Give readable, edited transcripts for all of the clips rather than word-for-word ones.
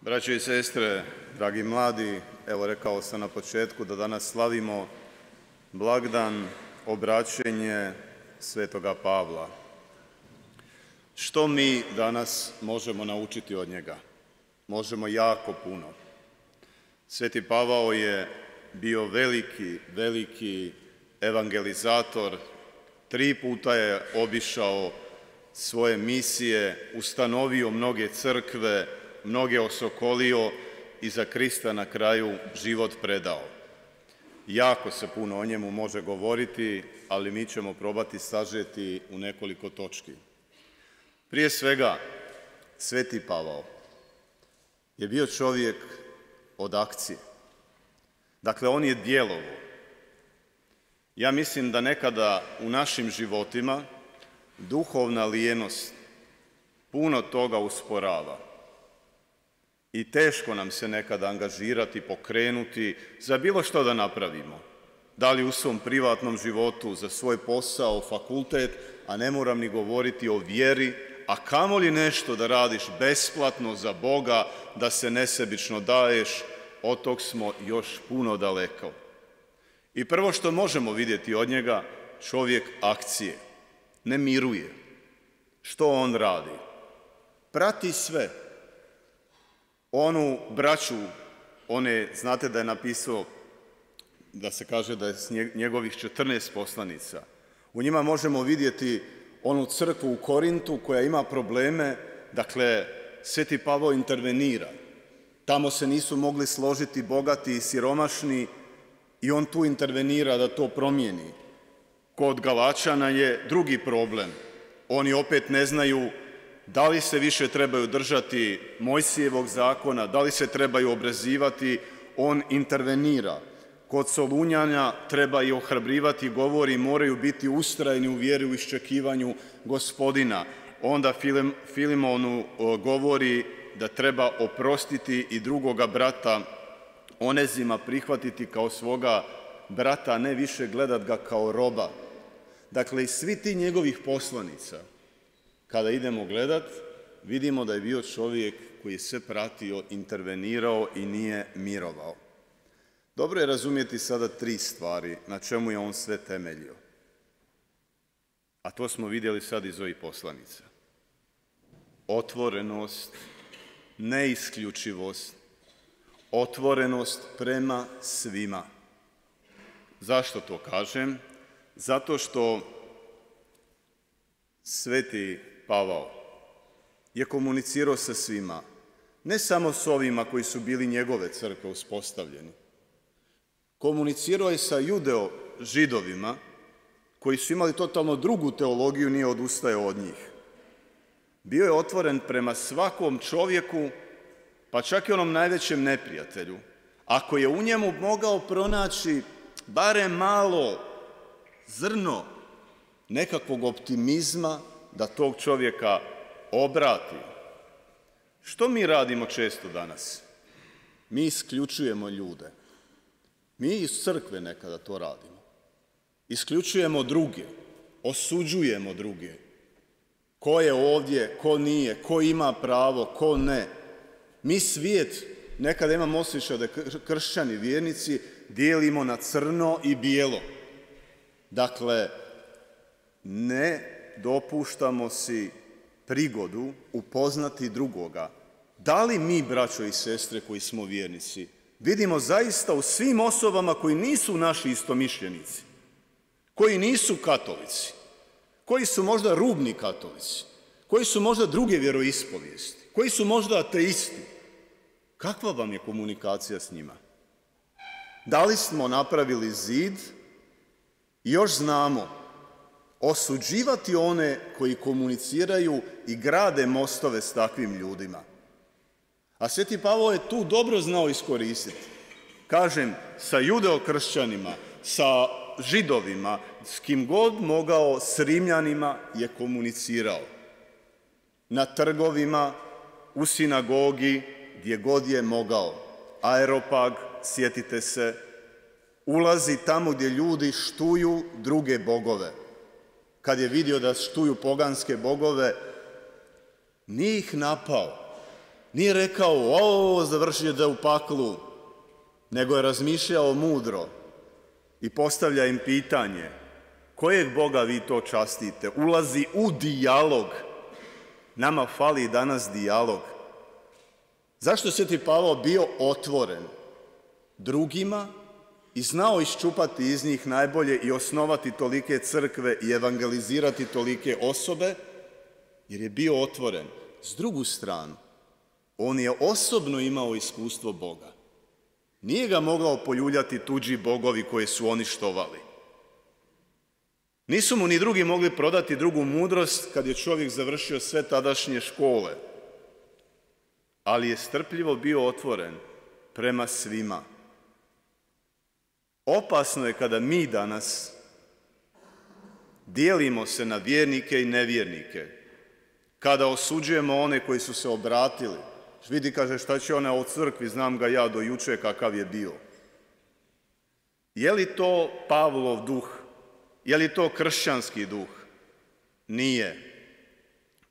Braćo i sestre, dragi mladi, evo rekao sam na početku da danas slavimo blagdan obraćenje Svetoga Pavla. Što mi danas možemo naučiti od njega? Možemo jako puno. Sveti Pavao je bio veliki evangelizator. 3 puta je obišao svoje misije, ustanovio mnoge crkve, mnoge osokolio i za Krista na kraju život predao. Jako se puno o njemu može govoriti, ali mi ćemo probati sažeti u nekoliko točki. Prije svega, Sveti Pavao je bio čovjek od akcije. Dakle, on je djelovao. Ja mislim da nekada u našim životima duhovna lijenost puno toga usporava. I teško nam se nekada angažirati, pokrenuti za bilo što da napravimo. Da li u svom privatnom životu, za svoj posao, fakultet, a ne moram ni govoriti o vjeri, a kamoli nešto da radiš besplatno za Boga, da se nesebično daješ, od tog smo još puno daleko. I prvo što možemo vidjeti od njega, čovjek akcije, ne miruje. Što on radi? Prati sve. Onu braću, znate da je napisao, da se kaže da je s njegovih 14 poslanica. U njima možemo vidjeti onu crkvu u Korintu koja ima probleme, dakle, Sveti Pavao intervenira. Tamo se nisu mogli složiti bogati i siromašni i on tu intervenira da to promijeni. Kod Galačana je drugi problem. Oni opet ne znaju da li se više trebaju držati Mojsijevog zakona, da li se trebaju obrezivati, on intervenira. Kod Solunjana treba i ohrabrivati, govori, moraju biti ustrajni u vjeri, u iščekivanju Gospodina. Onda Filimonu govori da treba oprostiti i drugoga brata Onezima prihvatiti kao svoga brata, a ne više gledat ga kao roba. Dakle, i svi ti njegovih poslanica, kada idemo gledat, vidimo da je bio čovjek koji je sve pratio, intervenirao i nije mirovao. Dobro je razumjeti sada 3 stvari na čemu je on sve temeljio. A to smo vidjeli sad iz ovih poslanica. Otvorenost, neisključivost, otvorenost prema svima. Zašto to kažem? Zato što Sveti Pavao je komunicirao sa svima, ne samo s ovima koji su bili njegove crkve uspostavljeni. Komunicirao je sa Židovima koji su imali totalno drugu teologiju, nije odustajao od njih. Bio je otvoren prema svakom čovjeku, pa čak i onom najvećem neprijatelju. Ako je u njemu mogao pronaći barem malo zrno nekakvog optimizma da tog čovjeka obrati. Što mi radimo često danas? Mi isključujemo ljude. Mi iz crkve nekada to radimo. Isključujemo druge, osuđujemo druge. Ko je ovdje, ko nije, ko ima pravo, ko ne. Mi svijet, nekada imamo osjećaj da kršćani, vjernici, dijelimo na crno i bijelo. Dakle, ne dopuštamo si prigodu upoznati drugoga. Da li mi, braćo i sestre koji smo vjernici, vidimo zaista u svim osobama koji nisu naši istomišljenici, koji nisu katolici, koji su možda rubni katolici, koji su možda druge vjeroispovijesti, koji su možda ateisti, kakva vam je komunikacija s njima? Da li smo napravili zid i još znamo osuđivati one koji komuniciraju i grade mostove s takvim ljudima? A Sveti Pavao je tu dobro znao iskoristiti. Kažem, sa judeokršćanima, sa Židovima, s kim god mogao, s Rimljanima je komunicirao. Na trgovima, u sinagogi, gdje god je mogao. Aeropag, sjetite se, ulazi tamo gdje ljudi štuju druge bogove. Kad je vidio da štuju poganske bogove, nije ih napao, Nije rekao, završite u paklu, nego je razmišljao mudro i postavlja im pitanje, kojeg Boga vi to častite? Ulazi u dijalog. Nama fali danas dijalog. Zašto je Sveti Pavao bio otvoren drugima i znao iščupati iz njih najbolje i osnovati tolike crkve i evangelizirati tolike osobe? Jer je bio otvoren. S drugu stranu, on je osobno imao iskustvo Boga. Nije ga mogao poljuljati tuđi bogovi koje su oni štovali. Nisu mu ni drugi mogli prodati drugu mudrost kad je čovjek završio sve tadašnje škole. Ali je strpljivo bio otvoren prema svima. Opasno je kada mi danas dijelimo se na vjernike i nevjernike, kada osuđujemo one koji su se obratili. Vidi, kaže, šta će ona o crkvi, znam ga ja do juče kakav je bio. Je li to Pavlov duh? Je li to kršćanski duh? Nije.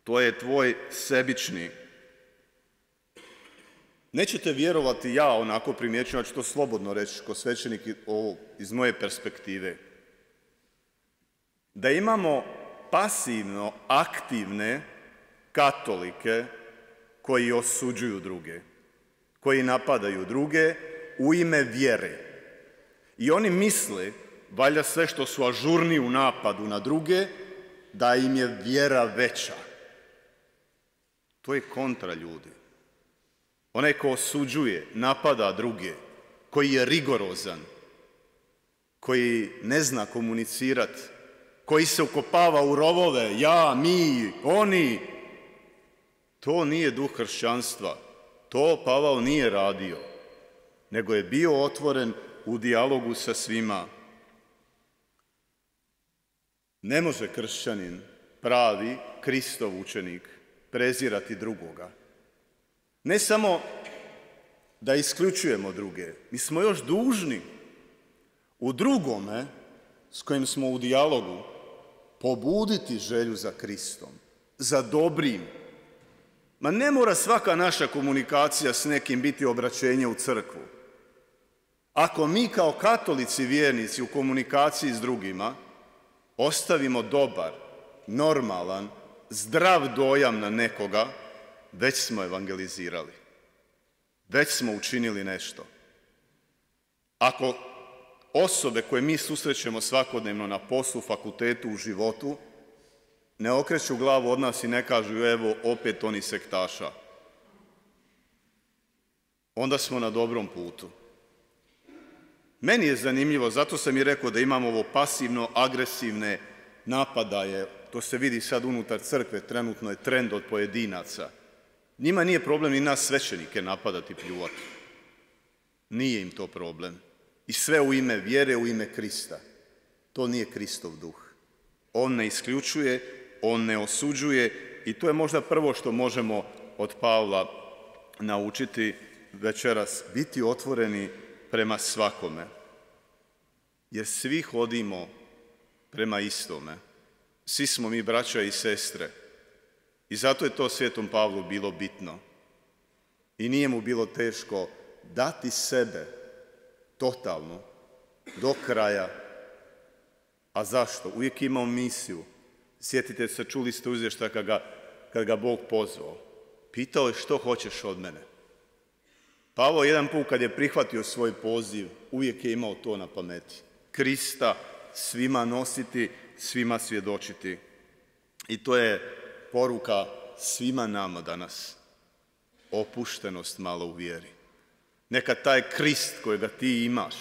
To je tvoj sebični. Nećete vjerovati, ja onako primjećujem, ja ću to slobodno reći ko svećenik iz moje perspektive, da imamo pasivno aktivne katolike koji osuđuju druge, koji napadaju druge u ime vjere. I oni misle, valjda sve što su ažurni u napadu na druge, da im je vjera veća. To je kontra, ljudi. Onaj ko osuđuje, napada druge, koji je rigorozan, koji ne zna komunicirati, koji se ukopava u rovove, ja, mi, oni, to nije duh kršćanstva. To Pavao nije radio, nego je bio otvoren u dijalogu sa svima. Ne može kršćanin, pravi Kristov učenik, prezirati drugoga. Ne samo da isključujemo druge, mi smo još dužni u drugome s kojim smo u dijalogu pobuditi želju za Kristom, za dobrim. Ma ne mora svaka naša komunikacija s nekim biti obraćenje u crkvu. Ako mi kao katolici vjernici u komunikaciji s drugima ostavimo dobar, normalan, zdrav dojam na nekoga, već smo evangelizirali. Već smo učinili nešto. Ako osobe koje mi susrećemo svakodnevno na poslu, fakultetu, u životu, ne okreću glavu od nas i ne kažu, evo, opet oni sektaša, onda smo na dobrom putu. Meni je zanimljivo, zato sam i rekao da imamo ovo pasivno-agresivne napadaje, to se vidi sad unutar crkve, trenutno je trend od pojedinaca. Njima nije problem ni nas svećenike napadati, pljuvati. Nije im to problem. I sve u ime vjere, u ime Krista. To nije Kristov duh. On ne isključuje, on ne osuđuje i to je možda prvo što možemo od Pavla naučiti večeras, biti otvoreni prema svakome. Jer svi hodimo prema istome. Svi smo mi braća i sestre. I zato je to Svetom Pavlu bilo bitno. I nije mu bilo teško dati sebe totalno, do kraja. A zašto? Uvijek je imao misiju. Sjetite se, čuli ste u izvještaj kad ga Bog pozvao. Pitao je što hoćeš od mene. Pavao jedan put kad je prihvatio svoj poziv, uvijek je imao to na pameti. Krista svima nositi, svima svjedočiti. I to je poruka svima nama danas. Opuštenost malo u vjeri. Neka taj Krist kojega ti imaš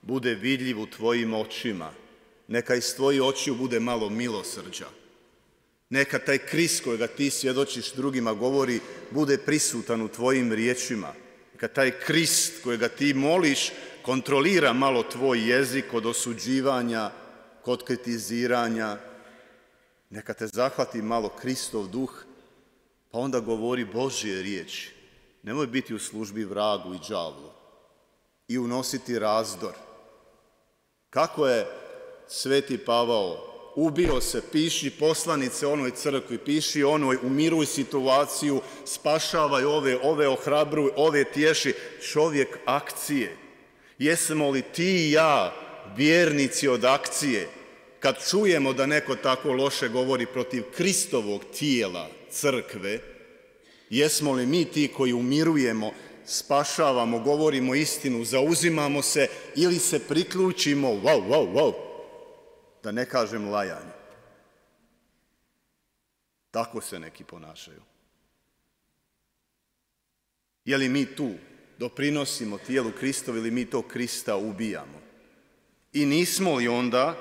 bude vidljiv u tvojim očima. Neka iz tvojih očiju bude malo milosrđa. Neka taj Krist kojega ti svjedočiš drugima govori, bude prisutan u tvojim riječima. Neka taj Krist kojega ti moliš kontrolira malo tvoj jezik kod osuđivanja, kod kritiziranja. Neka te zahvati malo Kristov duh, pa onda govori Božje riječi. Nemoj biti u službi vragu i đavlu i unositi razdor. Kako je Sveti Pavao ubio se, piši poslanice onoj crkvi, piši onoj, umiruj situaciju, spašavaj ove ohrabruj, ove tješi. Čovjek akcije. Jesmo li ti i ja vjernici od akcije? Kad čujemo da neko tako loše govori protiv Kristovog tijela, crkve, jesmo li mi ti koji umirujemo, spašavamo, govorimo istinu, zauzimamo se ili se priključimo, wow, da ne kažem lajanje. Tako se neki ponašaju. Je li mi tu doprinosimo tijelu Kristovu ili mi to Krista ubijamo? I nismo li onda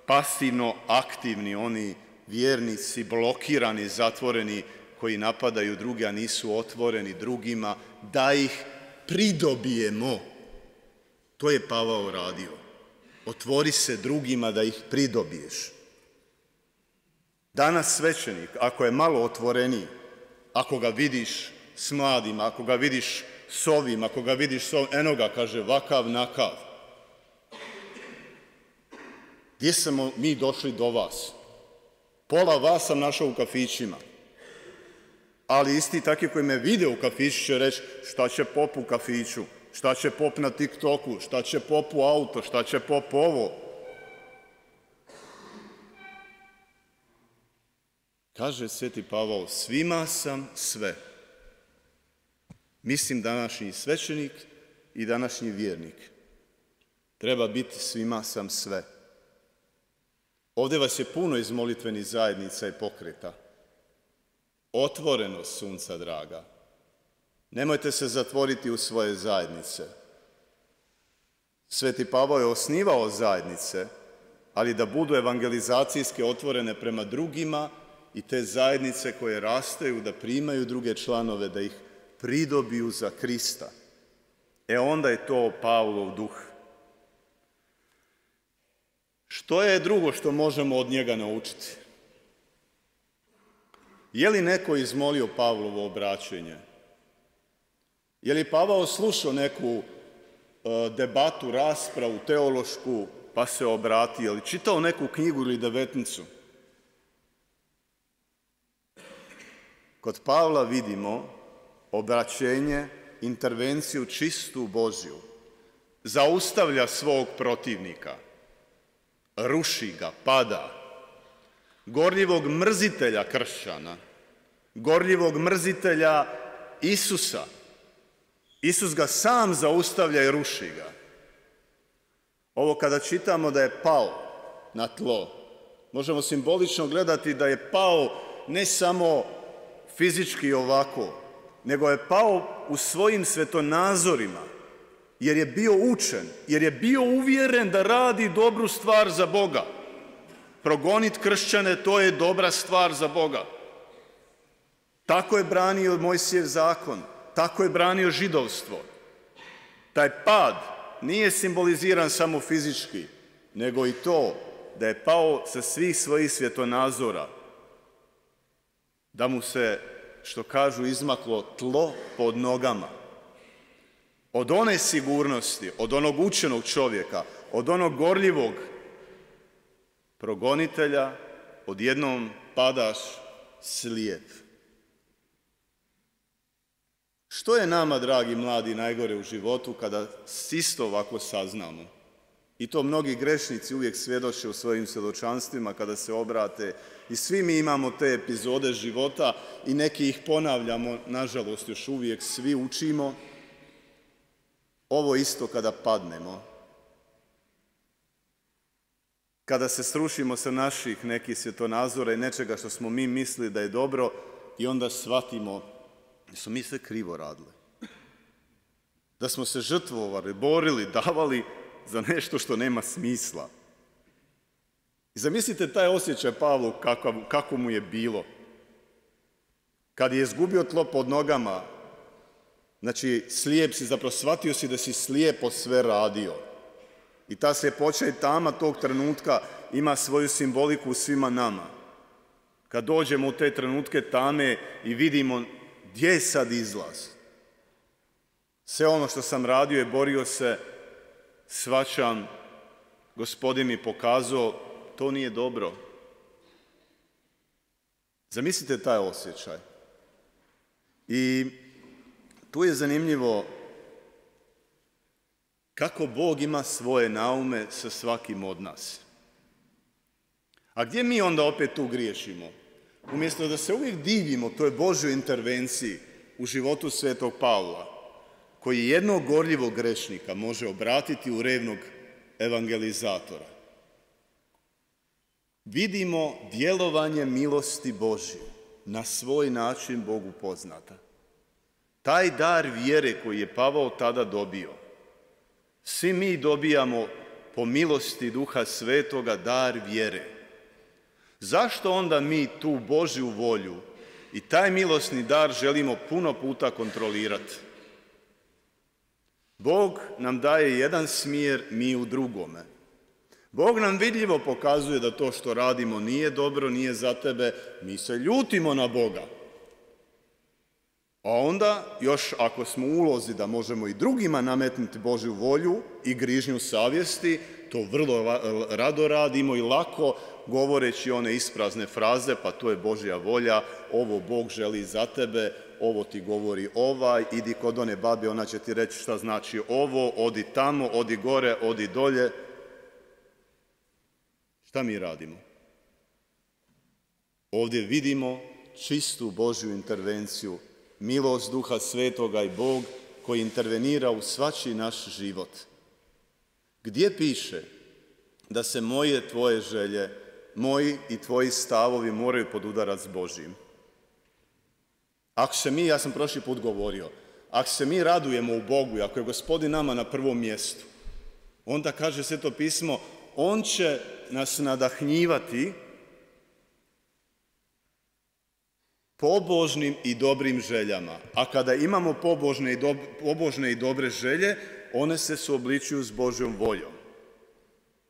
pasivno aktivni oni vjernici, blokirani, zatvoreni, koji napadaju druge, a nisu otvoreni drugima, da ih pridobijemo? To je Pavao radio. Otvori se drugima da ih pridobiješ. Danas svećenik, ako je malo otvoreniji, ako ga vidiš s mladima, ako ga vidiš s ovim, ako ga vidiš s ovim, eno ga, kaže, vakav, nakav. Gdje smo mi došli do vas? Pola vas sam našao u kafićima. Ali isti takvi koji me vide u kafiću će reći šta će pop u kafiću, šta će pop na TikToku, šta će pop u auto, šta će pop ovo. Kaže Sveti Pavao, svima sam sve. Mislim današnji svećenik i današnji vjernik. Treba biti svima sam sve. Ovdje vas je puno iz molitvenih zajednica i pokreta. Otvorenost, sunca draga. Nemojte se zatvoriti u svoje zajednice. Sveti Pavao je osnivao zajednice, ali da budu evangelizacijske otvorene prema drugima i te zajednice koje rastaju, da primaju druge članove, da ih pridobiju za Krista. Onda je to Pavlov duh. Što je drugo što možemo od njega naučiti? Je li neko izmolio Pavlovo obraćenje? Je li Pavao slušao neku debatu, raspravu, teološku, pa se obratio? Je li čitao neku knjigu ili devetnicu? Kod Pavla vidimo obraćenje, intervenciju čistu Božju. Zaustavlja svog protivnika. Ruši ga, pada. Gorljivog mrzitelja kršćana, gorljivog mrzitelja Isusa. Isus ga sam zaustavlja i ruši ga. Ovo kada čitamo da je pao na tlo, možemo simbolično gledati da je pao ne samo fizički ovako, nego je pao u svojim svetonazorima, jer je bio učen, jer je bio uvjeren da radi dobru stvar za Boga. Progoniti kršćane, to je dobra stvar za Boga. Tako je branio Mojsijev zakon, tako je branio židovstvo. Taj pad nije simboliziran samo fizički, nego i to da je pao sa svih svojih svjetonazora, da mu se, što kažu, izmaklo tlo pod nogama. Od one sigurnosti, od onog učenog čovjeka, od onog gorljivog progonitelja, odjednom padaš slijep. Što je nama, dragi mladi, najgore u životu kada isto ovako saznamo? I to mnogi grešnici uvijek svjedoče u svojim svjedočanstvima kada se obrate. I svi mi imamo te epizode života i neki ih ponavljamo, nažalost još uvijek svi učimo. Ovo isto kada padnemo. Kada se srušimo sa naših nekih svjetonazora i nečega što smo mi mislili da je dobro i onda shvatimo da smo mi sve krivo radili. Da smo se žrtvovali, borili, davali za nešto što nema smisla. I zamislite taj osjećaj Pavlu kako mu je bilo. Kad je izgubio tlo pod nogama, znači slijep si, zapravo shvatio si da si slijepo sve radio. I ta sljepoća i tama tog trenutka ima svoju simboliku u svima nama. Kad dođemo u te trenutke tame i vidimo gdje je sad izlaz. Sve ono što sam radio i borio se, shvaćam, Gospodin mi pokazao to nije dobro. Zamislite taj osjećaj. I tu je zanimljivo kako Bog ima svoje naume sa svakim od nas. A gdje mi onda opet tu griješimo? Umjesto da se uvijek divimo toj Božjoj intervenciji u životu svetog Pavla, koji jednog gorljivog grešnika može obratiti u revnog evangelizatora, vidimo djelovanje milosti Božje, na svoj način Bogu poznata. Taj dar vjere koji je Pavao tada dobio, svi mi dobijamo po milosti Duha Svetoga dar vjere. Zašto onda mi tu Božju volju i taj milosni dar želimo puno puta kontrolirati? Bog nam daje jedan smjer, mi u drugome. Bog nam vidljivo pokazuje da to što radimo nije dobro, nije za tebe, mi se ljutimo na Boga. A onda, još ako smo u ulozi da možemo i drugima nametnuti Božju volju i grižnju savjesti, to vrlo rado radimo i lako, govoreći one isprazne fraze, pa to je Božja volja, ovo Bog želi za tebe, ovo ti govori ovaj, idi kod one babe, ona će ti reći šta znači ovo, odi tamo, odi gore, odi dolje. Šta mi radimo? Ovdje vidimo čistu Božju intervenciju, milost Duha Svetoga i Bog koji intervenira u svačiji naš život. Gdje piše da se moje, tvoje želje, moji i tvoji stavovi moraju podudarati s Božjim? Ako se mi, ja sam prošli put govorio, ako se mi radujemo u Bogu i ako je Gospodin nama na prvom mjestu, onda kaže Sveto pismo, on će nas nadahnjivati pobožnim i dobrim željama. A kada imamo pobožne i dobre želje, one se suobličuju s Božjom voljom.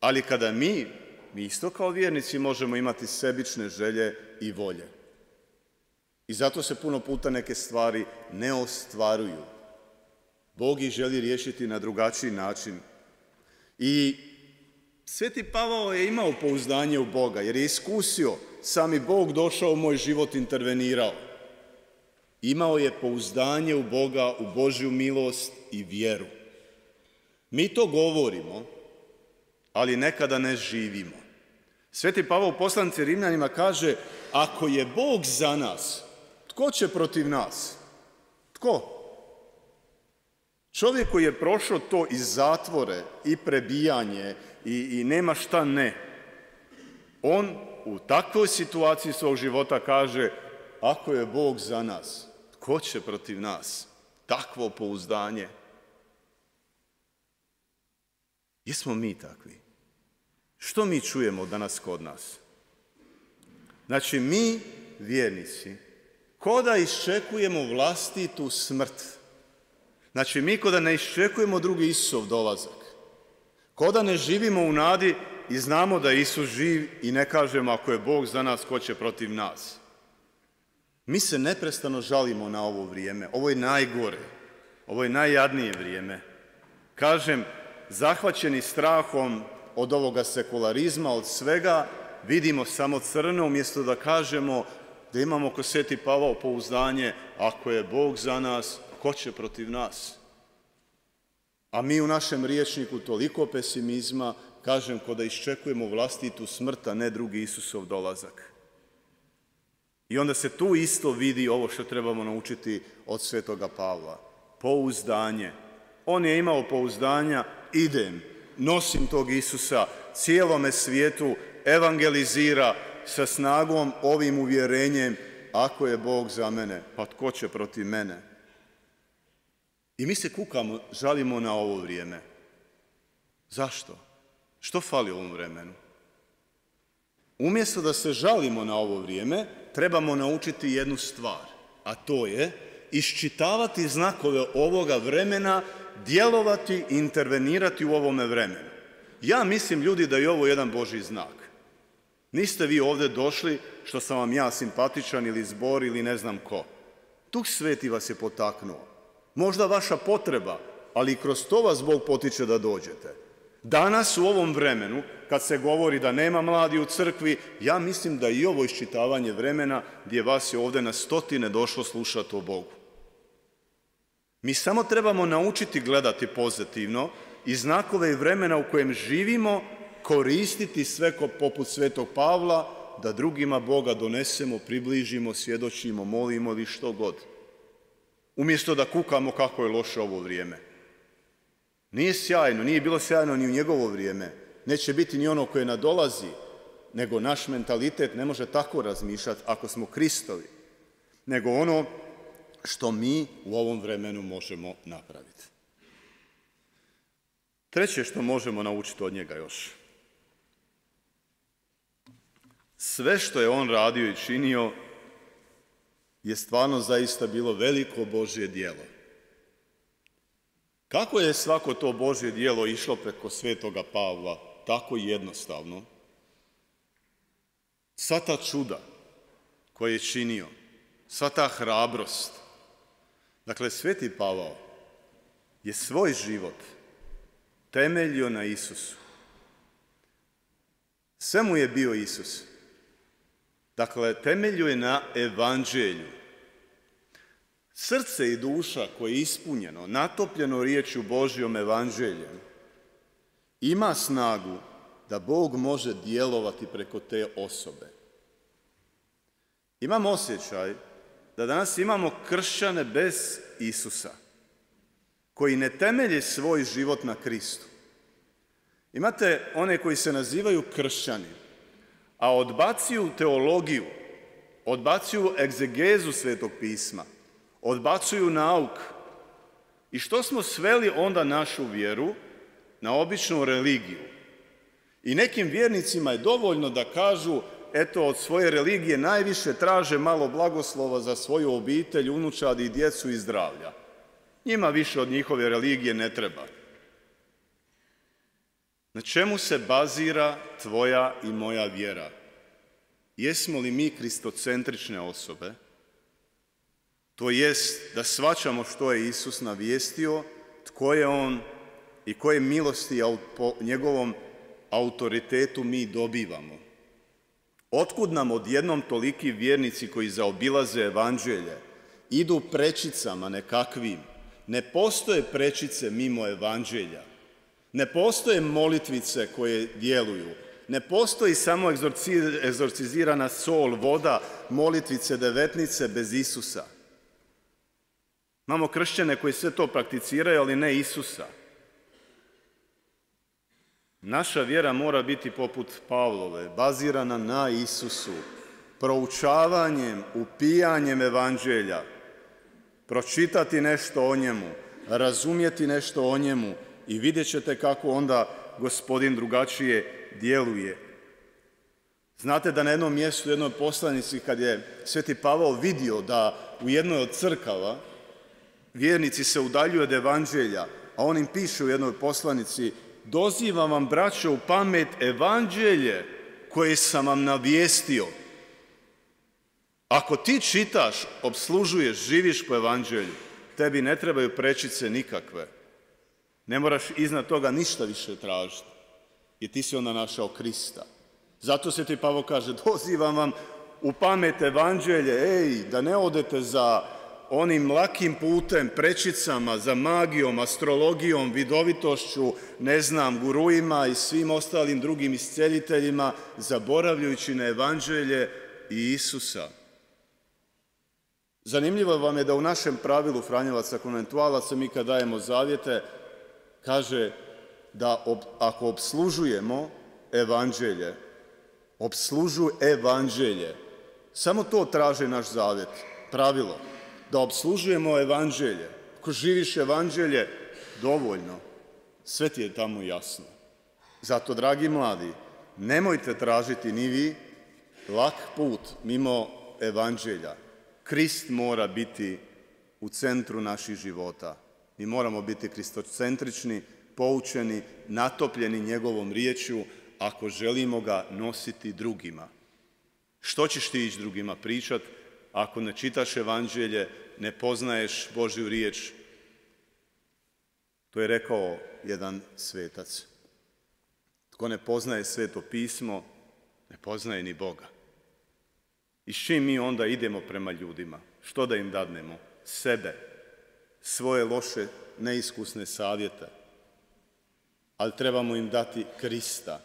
Ali kada mi isto kao vjernici možemo imati sebične želje i volje. I zato se puno puta neke stvari ne ostvaruju. Bog ih želi riješiti na drugačiji način. I Sveti Pavao je imao pouzdanje u Boga, jer je iskusio, sami Bog došao u moj život, intervenirao. Imao je pouzdanje u Boga, u Božju milost i vjeru. Mi to govorimo, ali nekada ne živimo. Sveti Pavao u poslanici Rimljanima kaže, ako je Bog za nas, tko će protiv nas? Tko? Čovjek koji je prošao to i zatvore, i prebijanje, i nema šta ne, on u takvoj situaciji svog života kaže, ako je Bog za nas, tko će protiv nas? Takvo pouzdanje. Jesmo mi takvi? Što mi čujemo danas kod nas? Znači, mi, vjernici, ko da iščekujemo vlastitu smrt. Znači, mi ko da ne iščekujemo drugi Isusov dolazak. Ko da ne živimo u nadi i znamo da je Isus živ i ne kažemo, ako je Bog za nas, ko će protiv nas. Mi se neprestano žalimo na ovo vrijeme. Ovo je najgore. Ovo je najjadnije vrijeme. Kažem, zahvaćeni strahom od ovoga sekularizma, od svega, vidimo samo crno, umjesto da kažemo da imamo ko Sveti Pavao pouzdanje, ako je Bog za nas, ko će protiv nas? A mi u našem rječniku toliko pesimizma, kažem, ko da iščekujemo vlastitu smrt, a ne drugi Isusov dolazak. I onda se tu isto vidi ovo što trebamo naučiti od Svetoga Pavla. Pouzdanje. On je imao pouzdanja, idem, nosim tog Isusa, cijelome svijetu, evangelizira sa snagom, ovim uvjerenjem, ako je Bog za mene, pa tko će protiv mene? I mi se kukamo, žalimo na ovo vrijeme. Zašto? Što fali u ovom vremenu? Umjesto da se žalimo na ovo vrijeme, trebamo naučiti jednu stvar, a to je iščitavati znakove ovoga vremena, djelovati i intervenirati u ovome vremenu. Ja mislim, ljudi, da je ovo jedan Božji znak. Niste vi ovdje došli što sam vam ja simpatičan ili zbor ili ne znam ko. Duh Sveti vas je potaknuo. Možda vaša potreba, ali i kroz to vas Bog potiče da dođete. Danas u ovom vremenu, kad se govori da nema mladi u crkvi, ja mislim da i ovo iščitavanje vremena gdje vas je ovdje na stotine došlo slušati o Bogu. Mi samo trebamo naučiti gledati pozitivno i znakove i vremena u kojem živimo koristiti sve poput Svetog Pavla, da drugima Boga donesemo, približimo, svjedočimo, molimo ili što god. Umjesto da kukamo kako je loše ovo vrijeme. Nije sjajno, nije bilo sjajno ni u njegovo vrijeme. Neće biti ni ono koje nadolazi, nego naš mentalitet ne može tako razmišljati ako smo Kristovi, nego ono što mi u ovom vremenu možemo napraviti. Treće što možemo naučiti od njega još. Sve što je on radio i činio je stvarno zaista bilo veliko Božje djelo. Kako je svako to Božje djelo išlo preko Svetoga Pavla, tako jednostavno? Sva ta čuda koje je činio, sva ta hrabrost. Dakle, Sveti Pavao je svoj život temeljio na Isusu. Sve mu je bio Isus. Dakle, temeljio je na evanđelju. Srce i duša koje je ispunjeno, natopljeno riječju Božjom evanđeljem, ima snagu da Bog može djelovati preko te osobe. Imam osjećaj da danas imamo kršćane bez Isusa, koji ne temelje svoj život na Kristu. Imate one koji se nazivaju kršćani, a odbacuju teologiju, odbacuju egzegezu Svetog pisma, odbacuju nauk. I što smo sveli onda našu vjeru? Na običnu religiju. I nekim vjernicima je dovoljno da kažu, eto, od svoje religije najviše traže malo blagoslova za svoju obitelj, unučadi, djecu i zdravlja. Njima više od njihove religije ne treba. Na čemu se bazira tvoja i moja vjera? Jesmo li mi kristocentrične osobe? To jest da shvaćamo što je Isus navijestio, tko je on i koje milosti po njegovom autoritetu mi dobivamo. Otkud nam odjednom toliki vjernici koji zaobilaze evanđelje, idu prečicama nekakvim? Ne postoje prečice mimo evanđelja. Ne postoje molitvice koje djeluju. Ne postoji samo egzorcizirana sol, voda, molitvice, devetnice bez Isusa. Imamo kršćane koji sve to prakticiraju, ali ne Isusa. Naša vjera mora biti poput Pavlove, bazirana na Isusu, proučavanjem, upijanjem evanđelja, pročitati nešto o njemu, razumjeti nešto o njemu i vidjet ćete kako onda Gospodin drugačije djeluje. Znate da na jednom mjestu, u jednoj poslanici, kad je Sveti Pavao vidio da u jednoj od crkava vjernici se udaljuju od evanđelja, a on im piše u jednoj poslanici: dozivam vam, braćo, u pamet evanđelje koje sam vam navijestio. Ako ti čitaš, obslužuješ, živiš po evanđelju, tebi ne trebaju prečice nikakve. Ne moraš iznad toga ništa više tražiti, jer ti si onda našao Krista. Zato se ti Pavao kaže: dozivam vam u pamet evanđelje, da ne odete za onim lakim putem, prečicama, za magijom, astrologijom, vidovitošću, guruima i svim ostalim drugim isceljiteljima, zaboravljajući na evanđelje i Isusa. Zanimljivo vam je da u našem pravilu Franjevaca konventualaca mi kad dajemo zavjete, kaže da ako obslužujemo evanđelje, obslužuj evanđelje. Samo to traži naš zavjet, pravilo. Da obslužujemo evanđelje. Ako živiš evanđelje, dovoljno. Sve ti je tamo jasno. Zato, dragi mladi, nemojte tražiti ni vi lak put mimo evanđelja. Krist mora biti u centru naših života. Mi moramo biti kristocentrični, poučeni, natopljeni njegovom riječju ako želimo ga nositi drugima. Što ćeš ti ići drugima pričati ako ne čitaš evanđelje, ne poznaješ Božju riječ? To je rekao jedan svetac. Tko ne poznaje Sveto pismo, ne poznaje ni Boga. I s čim mi onda idemo prema ljudima? Što da im dadnemo? Sebe, svoje loše, neiskusne savjete. Ali trebamo im dati Krista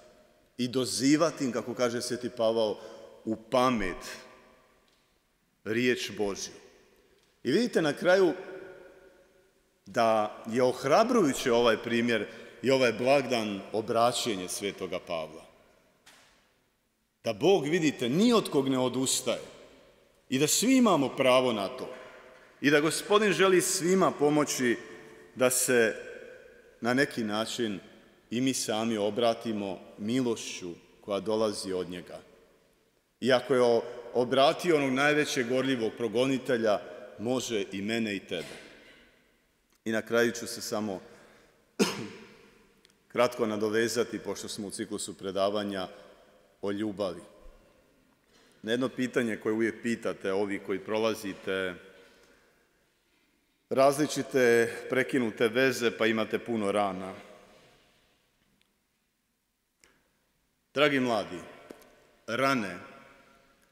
i dozivati im, kako kaže Sveti Pavao, u pamet riječ Božju. I vidite na kraju da je ohrabrujuće ovaj primjer i ovaj blagdan obraćenje Svetoga Pavla. Da Bog, vidite, ni od kog ne odustaje i da svi imamo pravo na to i da Gospodin želi svima pomoći da se na neki način i mi sami obratimo milošću koja dolazi od njega. I ako je obratio onog najvećeg gorljivog progonitelja, može i mene i tebe. I na kraju ću se samo kratko nadovezati, pošto smo u ciklusu predavanja o ljubavi. Na jedno pitanje koje uvijek pitate, ovi koji prolazite različite prekinute veze pa imate puno rana. Dragi mladi, rane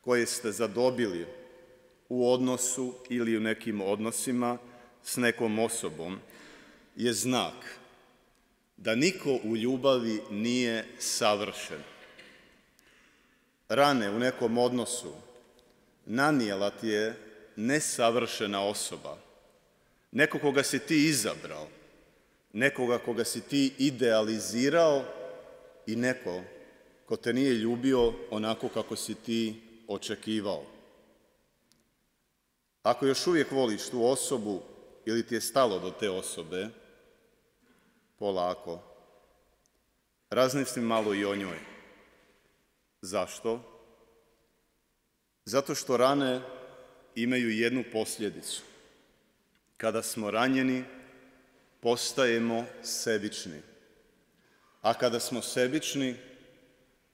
koje ste zadobili u odnosu ili u nekim odnosima s nekom osobom je znak da niko u ljubavi nije savršen. Rane u nekom odnosu nanijela ti je nesavršena osoba, neko koga si ti izabrao, nekoga koga si ti idealizirao i neko ko te nije ljubio onako kako si ti očekivao. Ako još uvijek voliš tu osobu ili ti je stalo do te osobe, polako, razmisli malo i o njoj. Zašto? Zato što rane imaju jednu posljedicu. Kada smo ranjeni, postajemo sebični. A kada smo sebični,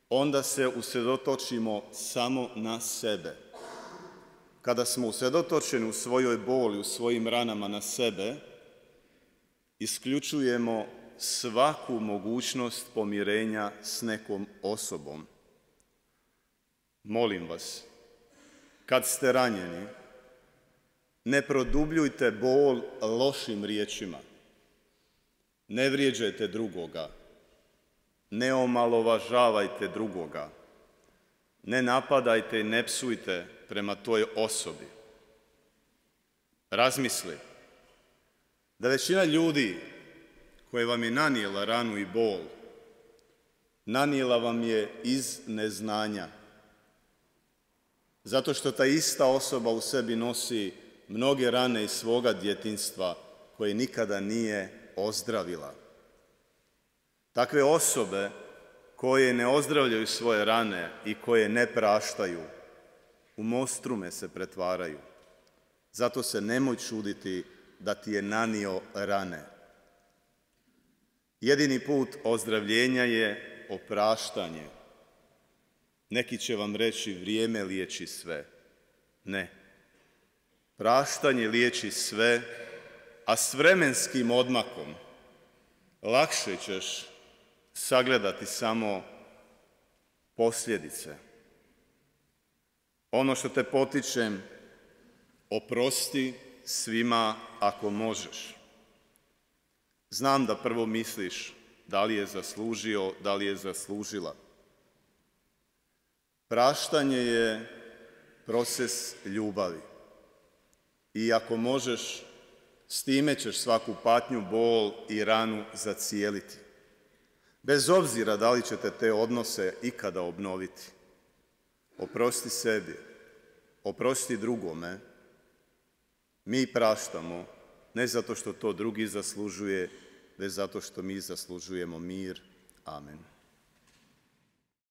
onda se usredotočimo samo na sebe. Kada smo usredotočeni u svojoj boli, u svojim ranama na sebe, isključujemo svaku mogućnost pomirenja s nekom osobom. Molim vas, kad ste ranjeni, ne produbljujte bol lošim riječima. Ne vrijeđajte drugoga. Ne omalovažavajte drugoga. Ne napadajte i ne psujte prema toj osobi. Razmisli da većina ljudi koje vam je nanijela ranu i bol, nanijela vam je iz neznanja. Zato što ta ista osoba u sebi nosi mnoge rane iz svoga djetinjstva koje nikada nije ozdravila. Takve osobe koje ne ozdravljaju svoje rane i koje ne praštaju, u monstrume se pretvaraju. Zato se nemoj čuditi da ti je nanio rane. Jedini put ozdravljenja je opraštanje. Neki će vam reći vrijeme liječi sve. Ne. Praštanje liječi sve, a s vremenskim odmakom lakše ćeš sagledati samo posljedice. Ono što te potičem, oprosti svima ako možeš. Znam da prvo misliš da li je zaslužio, da li je zaslužila. Praštanje je proces ljubavi. I ako možeš, s time ćeš svaku patnju, bol i ranu zacijeliti. Bez obzira da li ćete te odnose ikada obnoviti. Oprosti sebi, oprosti drugome. Mi praštamo, ne zato što to drugi zaslužuje, već zato što mi zaslužujemo mir. Amen.